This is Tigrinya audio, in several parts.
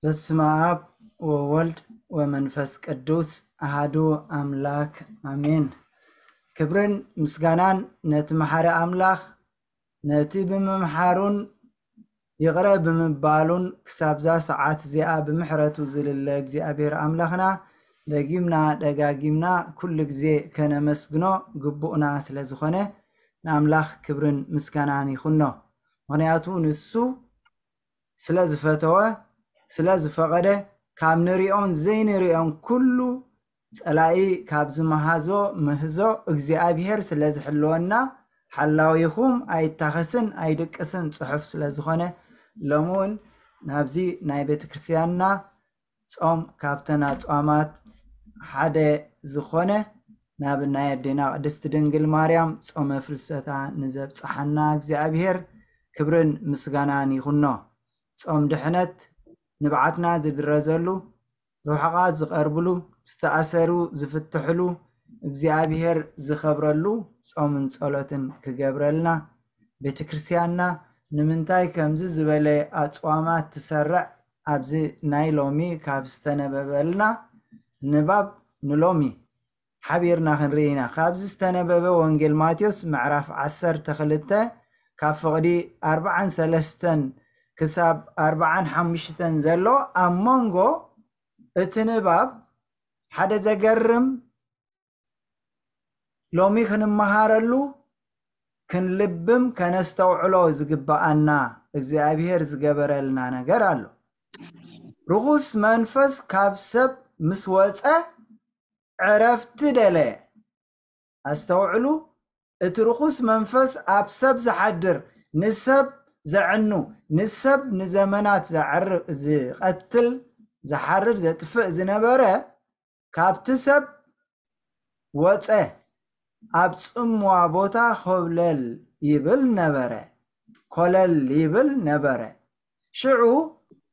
በስመ አብ ወወልድ ወመንፈስ ቅዱስ አሃዱ አምላክ አሜን። ክብርን ምስጋናን ነቲ መሓሪ ኣምላኽ፣ ነቲ ብምምሓሩን ይቕረ ብምባሉን ክሳብዛ ሰዓት እዚኣ ብምሕረቱ ዝልለ እግዚኣብሔር ኣምላኽና፣ ደጊምና ደጋጊምና ኩሉ ግዜ ከነመስግኖ ግቡእና ስለ ዝኾነ፣ ንኣምላኽ ክብርን ምስጋናን ይኹኖ። ምኽንያቱ ንሱ ስለ ዝፈተወ፣ ስለ ዝፈቐደ፣ ካብ ንሪኦን ዘይንሪኦን ኩሉ ጸላኢ ካብ ዝመሃዞ ምህዞ እግዚኣብሔር ስለ ዝሕልወና፣ ሓላዊኹም ኣይታኸስን ኣይድቅስን ጽሑፍ ስለ ዝኾነ፣ ሎሚ እውን ናብዚ ናይ ቤተ ክርስቲያንና ጾም ካብተን ኣጽዋማት ሓደ ዝኾነ ናብ ናይ ኣዴና ቅድስቲ ድንግል ማርያም ጾመ ፍልሰታ ንዘብጽሓና እግዚኣብሔር ክብርን ምስጋናን ይኹኖ። ጾም ድሕነት ንብዓትና ዝድረዘሉ፣ ርሑቓት ዝቐርብሉ፣ ዝተኣሰሩ ዝፍትሕሉ፣ እግዚኣብሔር ዝኸብረሉ ጾምን ጸሎትን ክገብረልና፣ ቤተ ክርስቲያንና ንምንታይ ከምዚ ዝበለ ኣጽዋማት ትሰርዕ? ኣብዚ ናይ ሎሚ ካብ ዝተነበበልና ንባብ ንሎሚ ሓቢርና ክንርኢ ኢና። ካብዚ ዝተነበበ ወንጌል ማቴዎስ ምዕራፍ ዓሰርተ ክልተ ካብ ፍቕዲ ኣርብዓን ሰለስተን ክሳብ ኣርብዓን ሓሙሽተን ዘሎ ኣብ መንጎ እቲ ንባብ ሓደ ዘገርም ሎሚ ክንመሃረሉ ክንልብም ከነስተውዕሎ ዝግበኣና እግዚኣብሔር ዝገበረልና ነገር ኣሎ። ርኹስ መንፈስ ካብ ሰብ ምስ ወጸ ዕረፍቲ ደለየ። ኣስተውዕሉ፣ እቲ ርኹስ መንፈስ ኣብ ሰብ ዝሓድር፣ ንሰብ ዘዕኑ፣ ንሰብ ንዘመናት ዘዕር-፣ ዝቐትል፣ ዝሓርድ፣ ዘጥፍእ ዝነበረ፣ ካብቲ ሰብ ወጸ፣ ኣብ ጽምዋ ቦታ ኾብለል ይብል ነበረ፣ ኮለል ይብል ነበረ። ሽዑ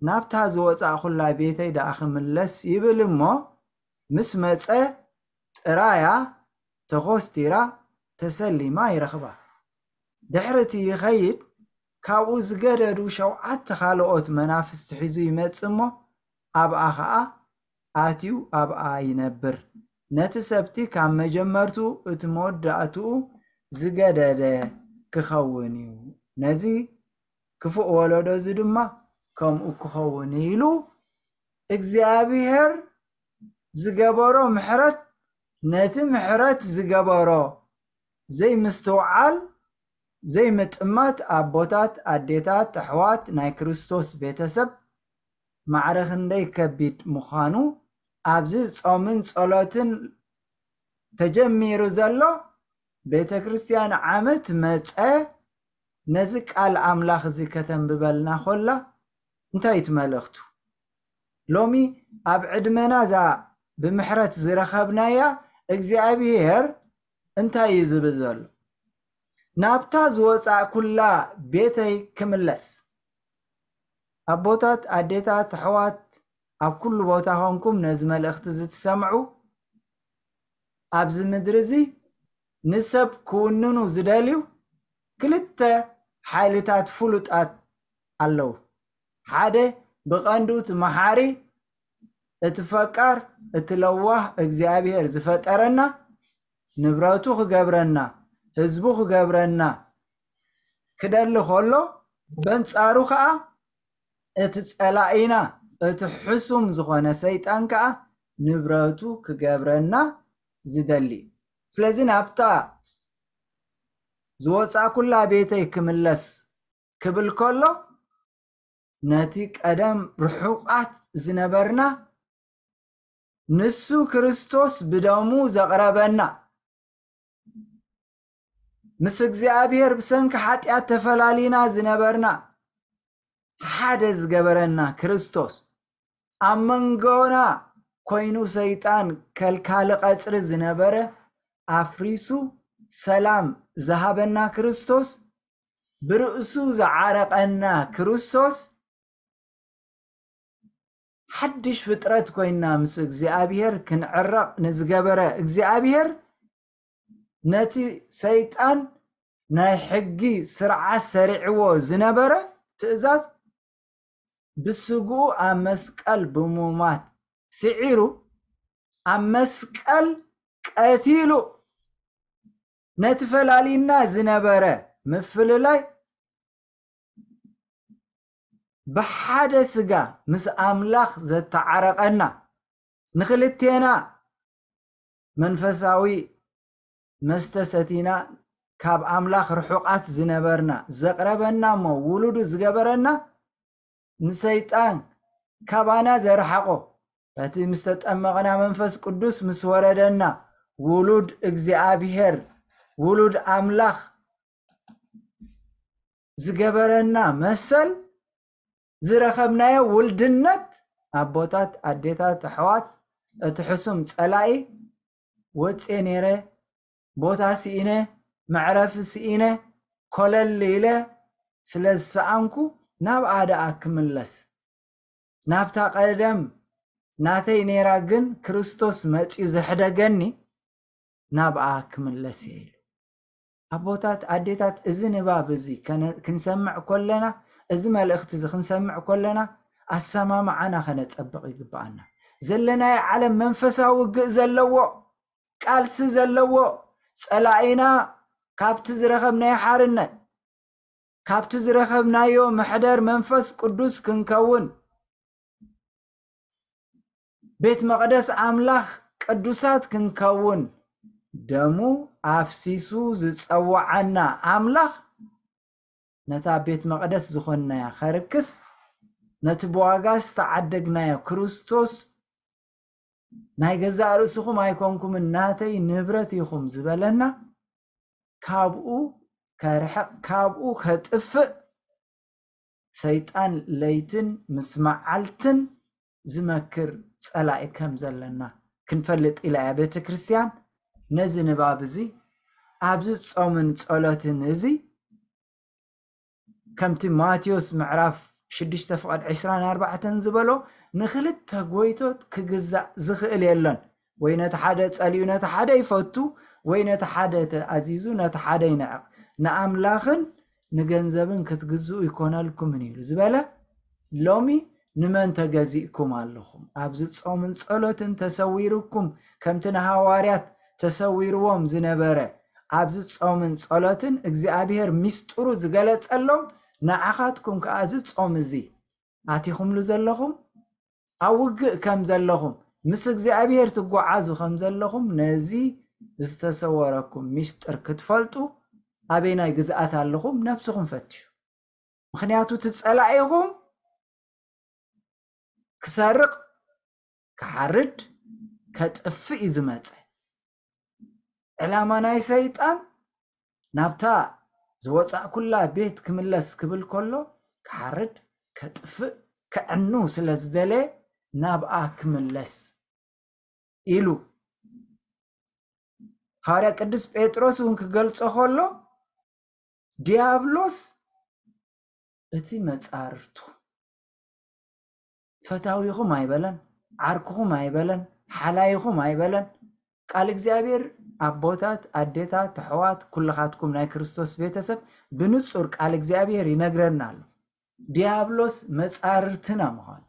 ናብታ ዝወጻእኩላ ቤተይ ደኣ ክምለስ ይብል እሞ፣ ምስ መጸ ጥራያ ተኾስቲራ ተሰሊማ ይረኽባ። ድሕሪ እቲ ይኸይድ፣ ካብኡ ዝገደዱ ሸውዓተ ካልኦት መናፍስቲ ሒዙ ይመጽእ እሞ፣ ኣብኣ ኸኣ ኣትዩ ኣብኣ ይነብር። ነቲ ሰብቲ ካብ መጀመርቱ እቲ መወዳእትኡ ዝገደደ ክኸውን እዩ። ነዚ ክፉእ ወለዶ እዚ ድማ ከምኡ ክኸውን ኢሉ እግዚኣብሔር ዝገበሮ ምሕረት፣ ነቲ ምሕረት ዝገበሮ ዘይምስትውዓል፣ ዘይምጥማት ኣቦታት፣ ኣዴታት፣ ኣሕዋት፣ ናይ ክርስቶስ ቤተሰብ ማዕረ ክንደይ ከቢድ ምዃኑ ኣብዚ ጾምን ጸሎትን ተጀሚሩ ዘሎ ቤተ ክርስቲያን ዓመት መጸ ነዚ ቃል ኣምላኽ እዚ ከተንብበልና ኮላ እንታይ እቲ መልእኽቱ? ሎሚ ኣብ ዕድመና እዛ ብምሕረት ዝረኸብናያ እግዚኣብሔር እንታይ እዩ ዝብል ዘሎ? ናብታ ዝወጻእኩላ ቤተይ ክምለስ። ኣቦታት፣ ኣዴታት፣ ኣሕዋት፣ ኣብ ኩሉ ቦታ ኾንኩም ነዚ መልእኽቲ እዚ ትሰምዑ፣ ኣብዚ ምድሪ እዚ ንሰብ ክውንኑ ዝደልዩ ክልተ ሓይልታት ፍሉጣት ኣለዉ። ሓደ ብቐንዱ እቲ መሓሪ፣ እቲ ፈቃር፣ እቲ ለዋህ እግዚኣብሔር ዝፈጠረና፣ ንብረቱ ክገብረና፣ ህዝቡ ክገብረና ክደሊ ከሎ፣ በንጻሩ ከኣ እቲ ጸላኢና፣ እቲ ሕሱም ዝኾነ ሰይጣን ከኣ ንብረቱ ክገብረና ዝደሊ። ስለዚ ናብታ ዝወጻእኩላ ቤተይ ክምለስ ክብል ከሎ፣ ነቲ ቀደም ርሑቓት ዝነበርና፣ ንሱ ክርስቶስ ብደሙ ዘቕረበና፣ ምስ እግዚኣብሔር ብሰንኪ ሓጢኣት ተፈላሊና ዝነበርና፣ ሓደ ዝገበረና ክርስቶስ፣ ኣብ መንጎና ኮይኑ ሰይጣን ከልካሊ ቀጽሪ ዝነበረ ኣፍሪሱ ሰላም ዝሃበና ክርስቶስ፣ ብርእሱ ዝዓረቐና ክርስቶስ፣ ሓድሽ ፍጥረት ኮይና ምስ እግዚኣብሔር ክንዕረቕ ንዝገበረ እግዚኣብሔር፣ ነቲ ሰይጣን ናይ ሕጊ ስርዓት ሰሪዕዎ ዝነበረ ትእዛዝ ብስግኡ ኣብ መስቀል ብምማት ስዒሩ፣ ኣብ መስቀል ቀቲሉ፣ ነቲ ፈላሊና ዝነበረ ምፍልላይ ብሓደ ስጋ ምስ ኣምላኽ ዘተዓረቐና፣ ንኽልቴና መንፈሳዊ መስተ ሰቲና ካብ ኣምላኽ ርሑቓት ዝነበርና ዘቕረበና እሞ ውሉዱ ዝገበረና፣ ንሰይጣን ካባና ዘርሓቖ፣ በቲ ምስ ተጠመቕና መንፈስ ቅዱስ ምስ ወረደና፣ ውሉድ እግዚኣብሔር፣ ውሉድ ኣምላኽ ዝገበረና መሰል ዝረኸብናዮ ውልድነት፣ ኣቦታት፣ ኣዴታት፣ ኣሕዋት፣ እቲ ሕሱም ጸላኢ ወጽየ ነይረ፣ ቦታ ስኢነ፣ መዕረፊ ስኢነ፣ ኮለል ኢለ ስለ ዝሰኣንኩ፣ ናብኣ ደኣ ክምለስ፣ ናብታ ቀደም ናተይ ነይራ ግን ክርስቶስ መጺኡ ዘሕደገኒ፣ ናብኣ ክምለስ እየ ኢሉ። ኣቦታት፣ ኣዴታት፣ እዚ ንባብ እዚ ከነ-፣ ክንሰምዕ ከለና፣ እዚ መልእኽቲ እዚ ክንሰምዕ ከለና፣ ኣሰማምዓና ከነጸብቕ ይግብኣና። ዘለናዮ ዓለም መንፈሳዊ ውግእ ዘለዎ፣ ቃልሲ ዘለዎ፣ ጸላኢና ካብቲ ዝረኸብናዮ ሓርነት፣ ካብቲ ዝረኸብናዮ መሕደር መንፈስ ቅዱስ ክንከውን፣ ቤት መቕደስ ኣምላኽ ቅዱሳት ክንከውን፣ ደሙ ኣፍሲሱ ዝጸውዓና ኣምላኽ፣ ነታ ቤት መቕደስ ዝኾንናያ ከርክስ፣ ነቲ ብዋጋ ዝተዓደግናዮ ክርስቶስ፣ ናይ ገዛእ ርእስኹም ኣይኮንኩምን፣ ናተይ ንብረት ኢኹም ዝበለና፣ ካብኡ ከርሕቕ፣ ካብኡ ከጥፍእ፣ ሰይጣን ለይትን ምስ መዓልትን ዝመክር ጸላኢ ከም ዘለና ክንፈልጥ ኢላ እያ ቤተ ክርስቲያን ነዚ ንባብ እዚ ኣብዚ ጾምን ጸሎትን እዚ፣ ከምቲ ማቴዎስ ምዕራፍ ሽዱሽተ ፍቐድ ዕስራን ኣርባዕተን ዝበሎ፣ ንኽልተ ጎይቶት ክግዛእ ዝኽእል የሎን። ወይ ነቲ ሓደ ጸሊኡ ነቲ ሓደ ይፈቱ፣ ወይ ነቲ ሓደ ተኣዚዙ ነቲ ሓደ ይንዕቕ። ንኣምላኽን ንገንዘብን ክትግዝኡ ይኮነልኩምን ኢሉ ዝበለ፣ ሎሚ ንመን ተገዚእኩም ኣለኹም? ኣብዚ ጾምን ጸሎትን ተሰዊርኩም፣ ከምቲ ንሃዋርያት ተሰዊርዎም ዝነበረ፣ ኣብዚ ጾምን ጸሎትን እግዚኣብሔር ሚስጥሩ ዝገለጸሎም፣ ንዓኻትኩም ከኣ እዚ ጾም እዚ ኣቲኹምሉ ዘለኹም፣ ኣብ ውግእ ከም ዘለኹም፣ ምስ እግዚኣብሔር ትጓዓዙ ከም ዘለኹም፣ ነዚ ዝተሰወረኩም ሚስጥር ክትፈልጡ፣ ኣበይናይ ግዝኣት ኣለኹም? ነብስኹም ፈትሹ። ምኽንያቱ እቲ ጸላኢኹም ክሰርቕ፣ ክሓርድ፣ ከጥፍእ እዩ ዝመጸ። ዕላማ ናይ ሰይጣን ናብታ ዝወጻእኩላ ቤት ክምለስ ክብል ከሎ፣ ክሓርድ፣ ከጥፍእ፣ ከዕኑ ስለ ዝደለየ ናብኣ ክምለስ ኢሉ። ሃዋርያ ቅዱስ ጴጥሮስ እውን ክገልጾ ከሎ፣ ዲያብሎስ እቲ መጻርርቱ ፈታዊኹም ኣይበለን፣ ዓርክኹም ኣይበለን፣ ሓላይኹም ኣይበለን። ቃል እግዚኣብሔር ኣቦታት፣ ኣዴታት፣ ኣሕዋት፣ ኩልኻትኩም ናይ ክርስቶስ ቤተሰብ ብንጹር ቃል እግዚኣብሔር ይነግረና ኣሎ። ዲያብሎስ መጻርርትና ምዃኑ።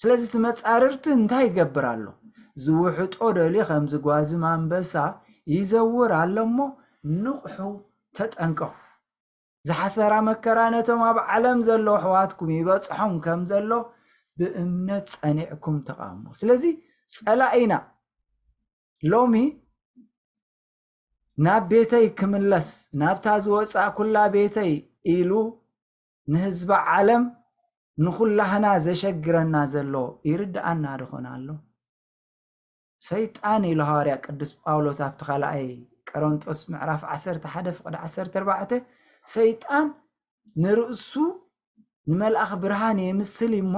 ስለዚ እቲ መጻርርቲ እንታይ ይገብር ኣሎ? ዝውሕጦ ደልዩ ከም ዝጓዝም ኣንበሳ ይዘውር ኣሎ እሞ ንቕሑ፣ ተጠንቀቑ። ዝሓሰራ መከራ ነቶም ኣብ ዓለም ዘለዉ ኣሕዋትኩም ይበጽሖም ከም ዘሎ ብእምነት ጸኒዕኩም ተቓውሞ። ስለዚ ጸላኢና ሎሚ ናብ ቤተይ ክምለስ፣ ናብታ ዝወጻእኩላ ቤተይ ኢሉ ንህዝቢ ዓለም ንኹላህና ዘሸግረና ዘሎ ይርድኣና ዶ ኾን ኣሎ? ሰይጣን ኢሉ ሃዋርያ ቅዱስ ጳውሎስ ኣብቲ ካልኣይ ቆሮንጦስ ምዕራፍ ዓሰርተ ሓደ ፍቕዲ ዓሰርተ ኣርባዕተ፣ ሰይጣን ንርእሱ ንመልኣኽ ብርሃን የምስል እሞ፣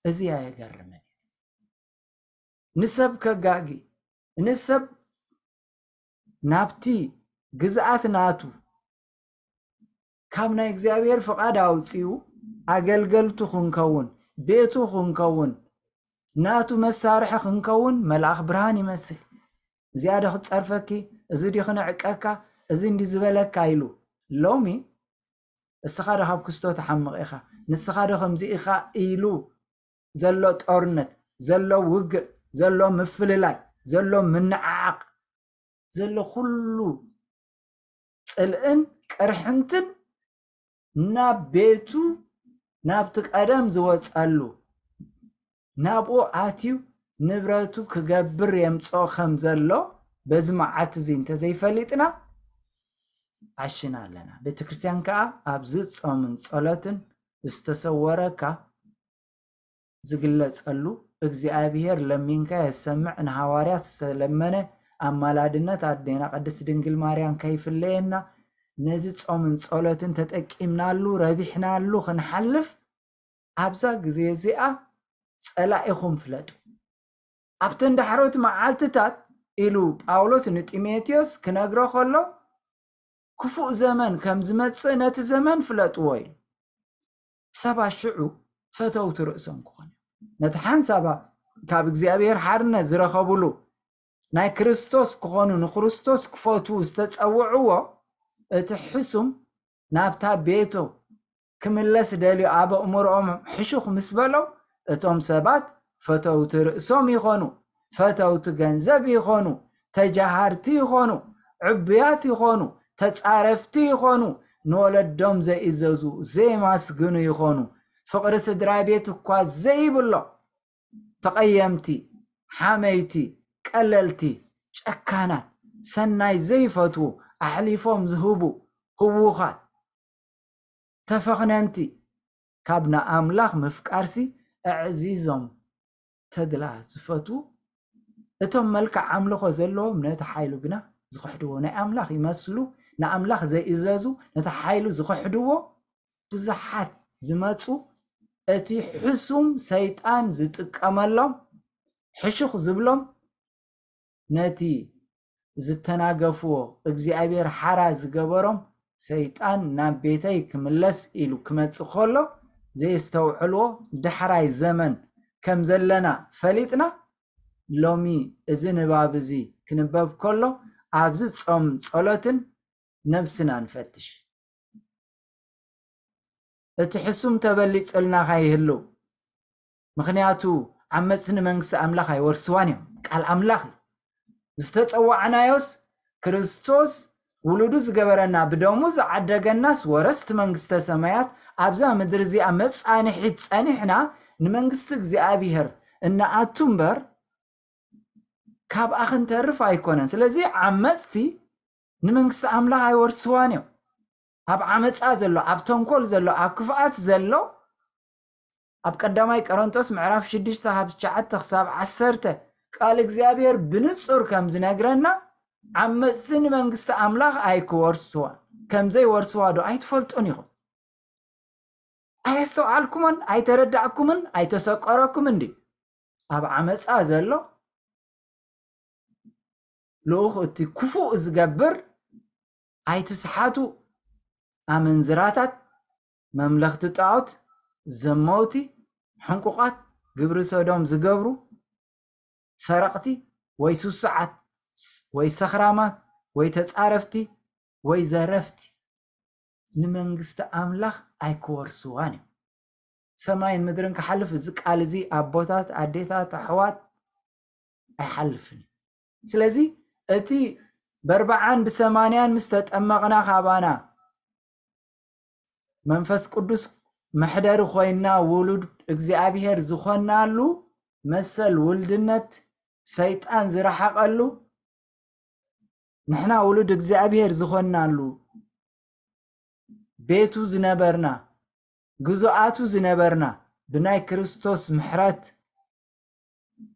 እዚ ኣየገርምን። ንሰብ ከጋጊ፣ ንሰብ ናብቲ ግዝኣት ናቱ ካብ ናይ እግዚኣብሔር ፍቓድ ኣውጺኡ ኣገልገልቱ ክንከውን፣ ቤቱ ክንከውን፣ ናቱ መሳርሒ ክንከውን መልኣኽ ብርሃን ይመስል። እዚኣ ዶ ክትጸርፈኪ፣ እዚ ዲ ክንዕቀካ፣ እዚ እንዲ ዝበለካ ኢሉ። ሎሚ እስኻ ዶ ካብ ክስቶ ትሓምቕ ኢኻ? ንስኻ ዶ ከምዚ ኢኻ ኢሉ ዘሎ ጦርነት፣ ዘሎ ውግእ፣ ዘሎ ምፍልላይ፣ ዘሎ ምንዓዓቕ፣ ዘሎ ኩሉ ጽልእን ቅርሕንትን ናብ ቤቱ፣ ናብቲ ቀደም ዝወጸሉ፣ ናብኡ ኣትዩ ንብረቱ ክገብር የምጽኦ ከም ዘሎ በዚ መዓልቲ እዚ እንተዘይፈሊጥና ዓሽና ኣለና። ቤተ ክርስቲያን ከኣ ኣብዚ ጾምን ጸሎትን ዝተሰወረካ ዝግለጸሉ፣ እግዚኣብሔር ለሚንካ የሰምዕ፣ ንሃዋርያት ዝተለመነ ኣማላድነት ኣዴና ቅድስት ድንግል ማርያም ከይፍለየና፣ ነዚ ጾምን ጸሎትን ተጠቂምናሉ፣ ረቢሕናሉ ክንሓልፍ፣ ኣብዛ ግዜ እዚኣ ጸላኢኹም ፍለጡ። ኣብተን ዳሕሮት መዓልትታት ኢሉ ጳውሎስ ንጢሞቴዎስ ክነግሮ ከሎ፣ ክፉእ ዘመን ከም ዝመጽእ ነቲ ዘመን ፍለጥዎ ኢሉ። ሰባት ሽዑ ፈተውቲ ርእሶም ክኾኑ እዮም። ነቲ ሓንሳባ ካብ እግዚኣብሔር ሓርነት ዝረኸብሉ ናይ ክርስቶስ ክኾኑ፣ ንክርስቶስ ክፈትዉ ዝተጸውዕዎ፣ እቲ ሕሱም ናብታ ቤቱ ክምለስ ደልዩ ኣብ ኣእምሮኦም ሕሹኽ ምስ በሎም፣ እቶም ሰባት ፈተውቲ ርእሶም ይኾኑ፣ ፈተውቲ ገንዘብ ይኾኑ፣ ተጃሃርቲ ይኾኑ፣ ዕቡያት ይኾኑ፣ ተጻረፍቲ ይኾኑ፣ ንወለዶም ዘይእዘዙ፣ ዘየማስግኑ ይኾኑ፣ ፍቕሪ ስድራ ቤት እኳ ዘይብሎም፣ ተቐየምቲ፣ ሓመይቲ፣ ቀለልቲ፣ ጨካናት፣ ሰናይ ዘይፈትዉ፣ ኣሕሊፎም ዝህቡ፣ ህዉኻት፣ ተፈኽነንቲ፣ ካብ ንኣምላኽ ምፍቃርሲ ኣዕዚዞም ተድላ ዝፈትዉ፣ እቶም መልክዕ ኣምልኾ ዘለዎም ነቲ ሓይሉ ግና ዝኽሕድዎ፣ ናይ ኣምላኽ ይመስሉ፣ ንኣምላኽ ዘይእዘዙ፣ ነቲ ሓይሉ ዝኽሕድዎ ብዙሓት ዝመጹ፣ እቲ ሕሱም ሰይጣን ዝጥቀመሎም፣ ሕሹኽ ዝብሎም፣ ነቲ ዝተናገፍዎ እግዚኣብሔር ሓራ ዝገበሮም ሰይጣን ናብ ቤተይ ክምለስ ኢሉ ክመጽእ ከሎ ዘየስተውዕልዎ ዳሕራይ ዘመን ከም ዘለና ፈሊጥና፣ ሎሚ እዚ ንባብ እዚ ክንበብ ከሎ ኣብዚ ጾም ጸሎትን ነብስና ንፈትሽ። እቲ ሕሱም ተበሊጹልና ከይህሉ፣ ምኽንያቱ ዓመጽቲ ንመንግስቲ ኣምላኽ ኣይወርስዋን እዮም። ቃል ኣምላኽ እዩ። ዝተጸዋዕናዮስ ክርስቶስ ውሉዱ ዝገበረና፣ ብደሙ ዝዓደገናስ ወረስቲ መንግስተ ሰማያት ኣብዛ ምድሪ እዚኣ መጻንሒት ጸኒሕና ንመንግስቲ እግዚኣብሔር እንኣቱ እምበር ካብኣ ክንተርፍ ኣይኮነን። ስለዚ ዓመጽቲ ንመንግስቲ ኣምላኽ ኣይወርስዋን እዮም። ኣብ ዓመጻ ዘሎ፣ ኣብ ተንኮል ዘሎ፣ ኣብ ክፍኣት ዘሎ፣ ኣብ ቀዳማይ ቆሮንጦስ ምዕራፍ ሽዱሽተ ካብ ትሽዓተ ክሳብ ዓሰርተ ቃል እግዚኣብሔር ብንጹር ከም ዝነግረና ዓመጽቲ ንመንግስቲ ኣምላኽ ኣይክወርስዋ፣ ከም ዘይወርስዋ ዶ ኣይትፈልጡን ኢኹም? ኣየስተውዓልኩምን ኣይተረዳእኩምን ኣይተሰቆረኩምን ድዩ? ኣብ ዓመጻ ዘሎ ልኡኽ እቲ ክፉእ ዝገብር ኣይትስሓቱ፣ ኣመንዝራታት፣ መምለኽቲ ጣዖት፣ ዘመውቲ፣ ሕንቁቓት፣ ግብሪ ሰዶም ዝገብሩ፣ ሰረቕቲ ወይ ስሱዓት ወይ ሰኽራማት ወይ ተጻረፍቲ ወይ ዘረፍቲ ንመንግስቲ ኣምላኽ ኣይክወርስዋን እዮም። ሰማይን ምድርን ክሓልፍ እዚ ቃል እዚ ኣቦታት፣ ኣዴታት፣ ኣሕዋት ኣይሓልፍን እዩ። ስለዚ እቲ በርብዓን ብሰማንያን ምስ ተጠመቕና ካባና መንፈስ ቅዱስ መሕደሪ ኮይና ውሉድ እግዚኣብሔር ዝኾናሉ መሰል ውልድነት ሰይጣን ዝረሓቐሉ ንሕና ውሉድ እግዚኣብሔር ዝኾናሉ ቤቱ ዝነበርና ግዙኣቱ ዝነበርና ብናይ ክርስቶስ ምሕረት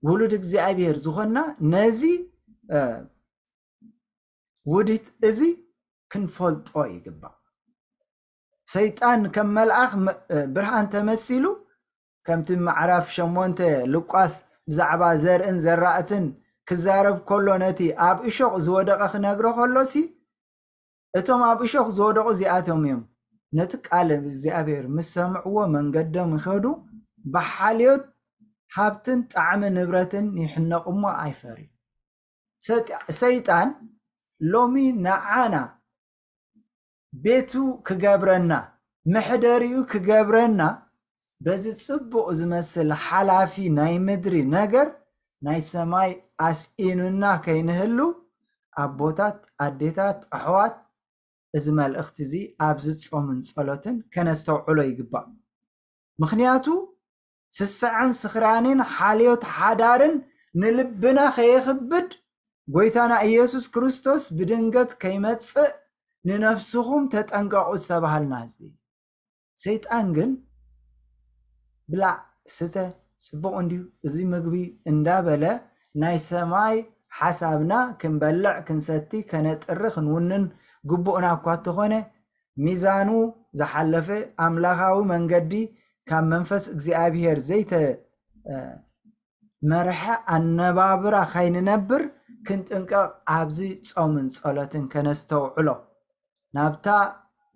ውሉድ እግዚኣብሔር ዝኾንና ነዚ ውዲት እዚ ክንፈልጦ ይግባእ። ሰይጣን ከም መልኣኽ ብርሃን ተመሲሉ ከምቲ ማዕራፍ ሸሞንተ ሉቃስ ብዛዕባ ዘርእን ዘራእትን ክዛረብ ከሎ ነቲ ኣብ እሾቕ ዝወደቐ ክነግሮ ከሎሲ እቶም ኣብ እሾኽ ዝወደቑ እዚኣቶም እዮም። ነቲ ቃል እግዚኣብሔር ምስ ሰምዕዎ መንገዶም ይኸዱ፣ ብሓልዮት ሃብትን ጣዕሚ ንብረትን ይሕነቑ እሞ ኣይፈርዩ። ሰይጣን ሎሚ ንዓና ቤቱ ክገብረና መሕደሪኡ ክገብረና፣ በዚ ጽቡቕ ዝመስል ሓላፊ ናይ ምድሪ ነገር ናይ ሰማይ ኣስኢኑና ከይንህሉ፣ ኣቦታት፣ ኣዴታት፣ ኣሕዋት፣ እዚ መልእኽቲ እዚ ኣብዚ ጾምን ጸሎትን ከነስተውዕሎ ይግባእ። ምኽንያቱ ስስዐን ስኽራንን ሓልዮት ሓዳርን ንልብና ከየኽብድ፣ ጎይታና ኢየሱስ ክርስቶስ ብድንገት ከይመጽእ ንነፍስኹም ተጠንቀቑ ዝተባሃልና ህዝቢ እዩ። ሰይጣን ግን ብላዕ፣ ስተ፣ ጽቡቕ እንድዩ እዚ ምግቢ እንዳበለ ናይ ሰማይ ሓሳብና ክንበልዕ፣ ክንሰቲ፣ ከነጥሪ፣ ክንውንን ግቡእና እኳ እንተኾነ፣ ሚዛኑ ዝሓለፈ ኣምላኻዊ መንገዲ ካብ መንፈስ እግዚኣብሔር ዘይተ-፣ እ፣ መርሐ ኣነባብራ ካይንነብር ክንጥንቀቕ ኣብዚ ጾምን ጸሎትን ከነስተውዕሎ። ናብታ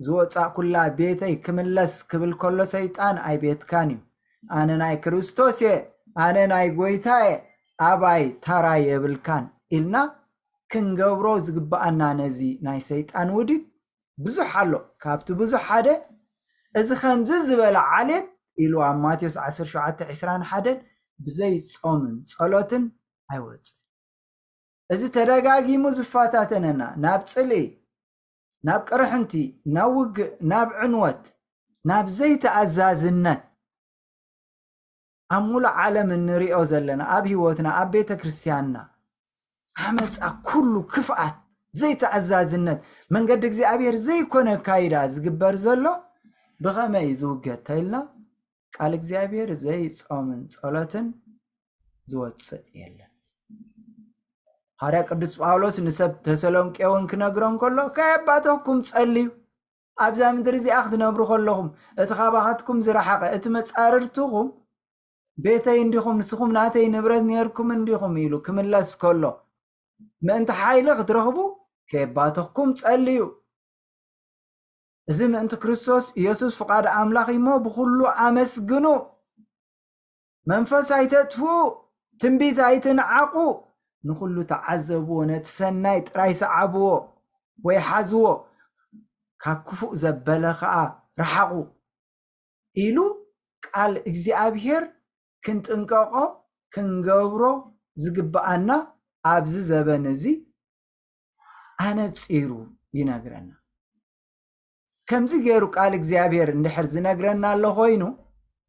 ዝወጻእኩላ ቤተይ ክምለስ ክብል ከሎ ሰይጣን ኣይቤትካን እዩ። ኣነ ናይ ክርስቶስ እየ፣ ኣነ ናይ ጎይታ እየ፣ ኣባይ ተራ የብልካን ኢልና ክንገብሮ ዝግብኣና ነዚ ናይ ሰይጣን ውዲት ብዙሕ ኣሎ። ካብቲ ብዙሕ ሓደ እዚ ከምዚ ዝበለ ዓሌት ኢሉ ኣብ ማቴዎስ ዓሰርተ ሸውዓተ ዕስራን ሓደን ብዘይ ጾምን ጸሎትን ኣይወጽእ። እዚ ተደጋጊሙ ዝፈታተነና ናብ ጽልኢ፣ ናብ ቅርሕንቲ፣ ናብ ውግእ፣ ናብ ዕንወት፣ ናብ ዘይተኣዛዝነት ኣብ ሙሉእ ዓለም እንሪኦ ዘለና ኣብ ህይወትና ኣብ ቤተ ክርስቲያንና ዓመፃ ኩሉ ክፍኣት ዘይተኣዛዝነት መንገዲ እግዚኣብሔር ዘይኮነ ካይዳ ዝግበር ዘሎ ብኸመይ እዩ ዝውገድ ተኢልና ቃል እግዚኣብሔር ዘይፆምን ፀሎትን ዝወፅእ የለን። ሃርያ ቅዱስ ጳውሎስ ንሰብ ተሰሎንቄ እውን ክነግሮም ከሎ ከየባተኩም ፀልዩ ኣብዛ ምድሪ እዚኣ ክትነብሩ ከለኹም እቲ ካባኻትኩም ዝረሓቐ እቲ መፃርርትኹም ቤተይ እንዲኹም ንስኹም ናተይ ንብረት ነርኩም እንዲኹም ኢሉ ክምለስ ከሎ ምእንቲ ሓይሊ ክትረኽቡ ከየባተኹም ፀልዩ። እዚ ምእንቲ ክርስቶስ ኢየሱስ ፍቓድ ኣምላኽ እሞ ብኹሉ ኣመስግኑ። መንፈስ ኣይተጥፍኡ፣ ትንቢት ኣይትንዓቑ፣ ንኹሉ ተዓዘብዎ፣ ነቲ ሰናይ ጥራይ ሰዓብዎ ወይ ሓዝዎ፣ ካብ ክፉእ ዘበለ ኸዓ ረሓቑ ኢሉ ቃል እግዚኣብሔር ክንጥንቀቖ ክንገብሮ ዝግብኣና ኣብዚ ዘበን እዚ ኣነጺሩ ይነግረና። ከምዚ ገይሩ ቃል እግዚኣብሔር እንድሕር ዝነግረና ኣሎ ኮይኑ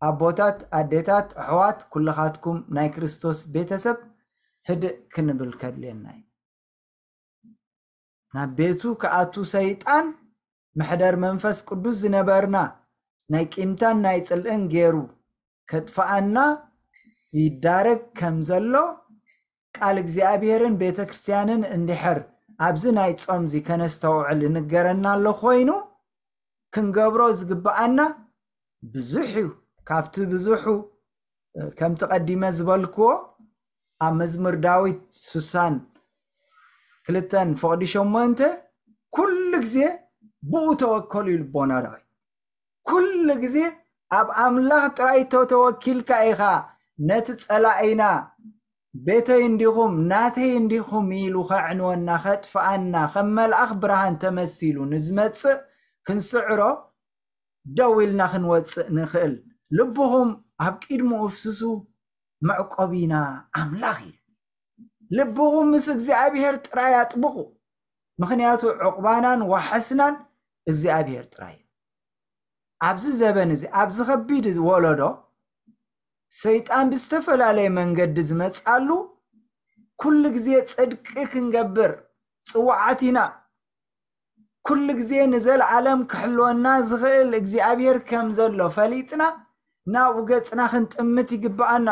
ኣቦታት ኣዴታት ኣሕዋት ኩልኻትኩም ናይ ክርስቶስ ቤተሰብ ህድእ ክንብል ከድልየና እዩ። ናብ ቤቱ ክኣቱ ሰይጣን መሕደር መንፈስ ቅዱስ ዝነበርና ናይ ቂምታን ናይ ጽልእን ገይሩ ከጥፍኣና ይዳረግ ከም ዘሎ ቃል እግዚኣብሔርን ቤተ ክርስቲያንን እንድሕር ኣብዚ ናይ ጾምዚ ከነስተውዕል ይንገረና ኣሎ ኮይኑ ክንገብሮ ዝግብኣና ብዙሕ እዩ። ካብቲ ብዙሑ ከምቲ ቀዲመ ዝበልክዎ ኣብ መዝሙር ዳዊት ስሳን ክልተን ፍቕዲ ሸሞንተ ኩሉ ግዜ ብኡ ተወከሉ እዩ ልቦና ዳዊት። ኩሉ ግዜ ኣብ ኣምላኽ ጥራይ ተተወኪልካ ኢኻ ነቲ ጸላኢና ቤተይ እንዲኹም ናተይ እንዲኹም ኢሉ ከዕንወና ከጥፍኣና ከም መልኣኽ ብርሃን ተመሲሉ ንዝመጽእ ክንስዕሮ ደው ኢልና ክንወጽእ ንኽእል። ልብኹም ኣብ ቅድሚኡ ኣፍስሱ፣ መዕቆቢና ኣምላኽ እዩ። ልብኹም ምስ እግዚኣብሔር ጥራይ ኣጥብቑ፣ ምኽንያቱ ዕቑባናን ዋሕስናን እግዚኣብሔር ጥራይ እዩ። ኣብዚ ዘበን እዚ ኣብዚ ከቢድ ወለዶ ሰይጣን ብዝተፈላለየ መንገዲ ዝመፅኣሉ ኩሉ ግዜ ፅድቂ ክንገብር ፅዋዓት ኢና። ኩሉ ግዜ ንዘለኣለም ክሕልወና ዝኽእል እግዚኣብሔር ከም ዘሎ ፈሊጥና ናብኡ ገፅና ክንጥምት ይግብኣና።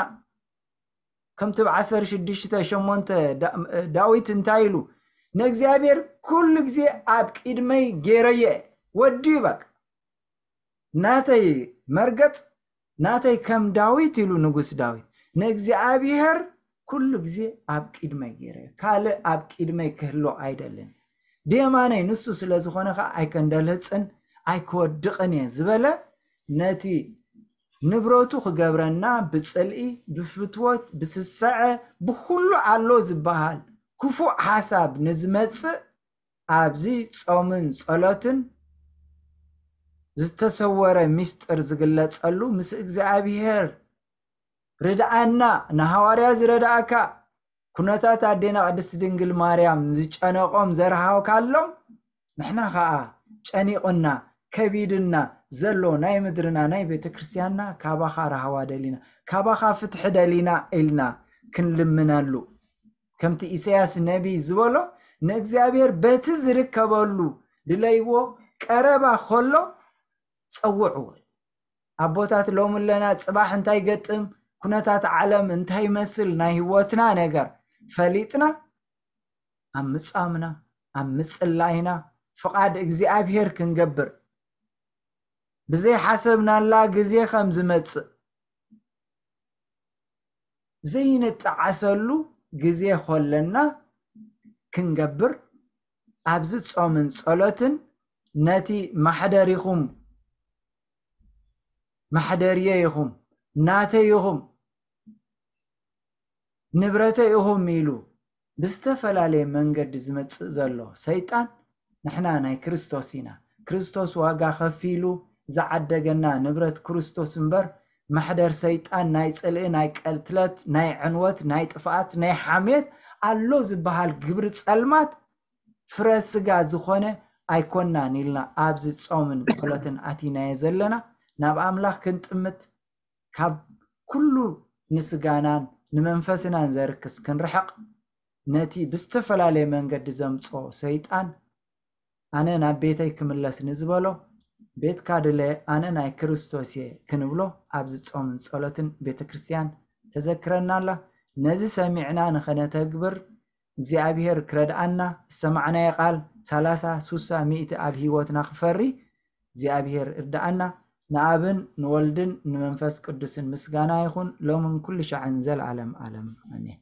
ከምቲ ብ ዓሰርተ ሽዱሽተ ሸሞንተ ዳዊት እንታይ ኢሉ ንእግዚኣብሔር ኩሉ ግዜ ኣብ ቅድመይ ገይረየ ወዲ በቃ ናተይ መርገጽ ናተይ ከም ዳዊት ኢሉ ንጉስ ዳዊት ንእግዚኣብሔር ኩሉ ግዜ ኣብ ቅድመይ ገይረየ ካልእ ኣብ ቅድመይ ክህሎ ኣይደልን ብየማነይ ንሱ ስለ ዝኾነ ከዓ ኣይከንደልህፅን ኣይክወድቕን እየ ዝበለ ነቲ ንብረቱ ክገብረና ብፅልኢ ብፍትወት ብስሰዐ ብኩሉ ኣሎ ዝበሃል ክፉእ ሓሳብ ንዝመፅእ ኣብዚ ፆምን ፀሎትን ዝተሰወረ ምስጢር ዝግለጸሉ፣ ምስ እግዚኣብሔር ርድኣና፣ ንሃዋርያ ዝረድኣካ፣ ኩነታት ኣዴና ቅድስት ድንግል ማርያም ዝጨነቆም ዘርሃውካሎም፣ ንሕና ኸኣ ጨኒቑና ከቢድና ዘሎ ናይ ምድርና ናይ ቤተ ክርስቲያንና ካባኻ ራህዋ ደሊና፣ ካባኻ ፍትሒ ደሊና ኢልና ክንልምነሉ፣ ከምቲ ኢሳያስ ነቢይ ዝበሎ፣ ንእግዚኣብሔር በቲ ዝርከበሉ ድለይዎ፣ ቀረባ ከሎ ጸውዕዎ። ኣቦታት ሎሚ ኣለና፣ ጽባሕ እንታይ ገጥም፣ ኩነታት ዓለም እንታይ ይመስል፣ ናይ ህይወትና ነገር ፈሊጥና፣ ኣብ ምጻምና፣ ኣብ ምጽላይና፣ ፍቓድ እግዚኣብሔር ክንገብር፣ ብዘይሓሰብናላ ግዜ ከም ዝመጽእ፣ ዘይንጠዓሰሉ ግዜ ከለና ክንገብር፣ ኣብዚ ጾምን ጸሎትን ነቲ ማሕደሪኹም፣ ማሕደርየ ኢኹም፣ ናተይ ኢኹም፣ ንብረተይ ኢኹም ኢሉ ብዝተፈላለየ መንገዲ ዝመጽእ ዘሎ ሰይጣን፣ ንሕና ናይ ክርስቶስ ኢና። ክርስቶስ ዋጋ ከፊሉ ዝዓደገና ንብረት ክርስቶስ እምበር፣ ማሕደር ሰይጣን ናይ ጽልኢ፣ ናይ ቀትለት፣ ናይ ዕንወት፣ ናይ ጥፍኣት፣ ናይ ሓሜት ኣሎ ዝበሃል ግብሪ ጸልማት ፍረ ስጋ ዝኾነ ኣይኮናን ኢልና ኣብዚ ጾምን ጸሎትን ኣቲናዮ ዘለና። ናብ ኣምላኽ ክንጥምት፣ ካብ ኩሉ ንስጋናን ንመንፈስናን ዘርክስ ክንርሕቕ፣ ነቲ ብዝተፈላለየ መንገዲ ዘምጽኦ ሰይጣን፣ ኣነ ናብ ቤተይ ክምለስ ንዝበሎ፣ ቤትካ ድለ፣ ኣነ ናይ ክርስቶስ እየ ክንብሎ ኣብዚ ጾምን ጸሎትን ቤተ ክርስቲያን ተዘክረና ኣላ። ነዚ ሰሚዕና ንኸነተግብር እግዚኣብሔር ክረድኣና፣ ዝሰማዕናዮ ቃል ሰላሳ፣ ስሳ፣ ሚእቲ ኣብ ህይወትና ክፈሪ እግዚኣብሔር እርድኣና። ንኣብን ንወልድን ንመንፈስ ቅዱስን ምስጋና ይኹን፣ ሎምን ኩሉ ሻዕን ዘለዓለም ዓለም። ኣሜን።